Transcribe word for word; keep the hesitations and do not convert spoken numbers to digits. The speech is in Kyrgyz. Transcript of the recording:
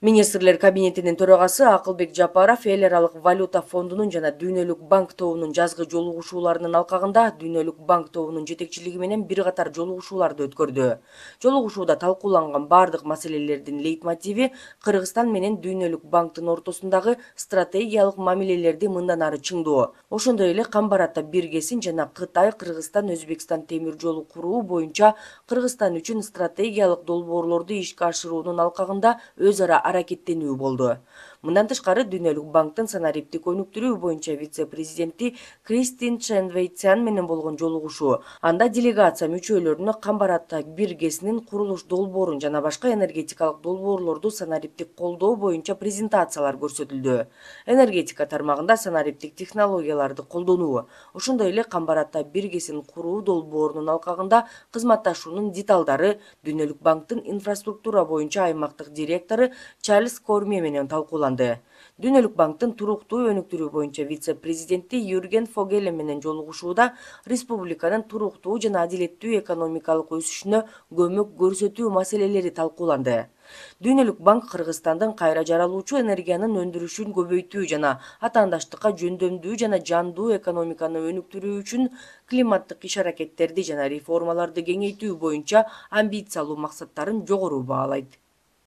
Министрлер кабинетинин төрагасы Акылбек Жапаров эл аралык валюта фондунун жана Дүйнөлүк банк тобунун жазгы жолугушууларынын алкагында Дүйнөлүк банк тобунун жетекчилиги менен бир катар жолугушууларды өткөрдү. Жолугушууда талкууланган бардык маселелердин лейтмотиви Кыргызстан менен Дүйнөлүк банктын ортосундагы стратегиялык мамилелерди мындан ары чыңдоо, ошондой эле Камбар-Ата биргесин жана Кытай Кыргызстан Өзбекстан темир жолу куруу боюнча Кыргызстан үчүн стратегиялык долбоорлорду ишке ашыруунун алкагында өз ара аракеттенүү болду. Мындан тышкары Дүйнөлүк банктын санариптик өнүктүрүү боюнча вице-президенти Кристин Ченвейтсян менен болгон жолугушуу. Анда делегация мүчөлөрүнө Камбар-Ата биргесинин курулуш долбоорун жана башка энергетикалык долбоорлорду санариптик колдоо боюнча презентациялар көрсөтүлдү. Энергетика тармагында санариптик технологияларды колдонуу, ошондой эле Камбар-Ата биргесин куруу долбоорунун алкагында кызматташуунун деталдары Дүйнөлүк банктын инфраструктура боюнча аймактык директору Чарльз Корме менен талкууланды. Дүйнөлүк банктын туруктуу өнүктүрүү боюнча вице-президенти Юрген Фогеле менен жолугушууда республиканын туруктуу жана адилеттүү экономикалык өсүшүнө көмөк көрсөтүү маселелери талкууланды. Дүйнөлүк банк Кыргызстандын кайра жаралуучу энергиянын өндүрүшүн көбөйтүү жана атаандаштыкка жөндөмдүү жана жандуу экономиканы өнүктүрүү үчүн климаттык иш-аракеттерди жана реформаларды кеңейтүү боюнча амбициялуу максаттарын жогору баалайт.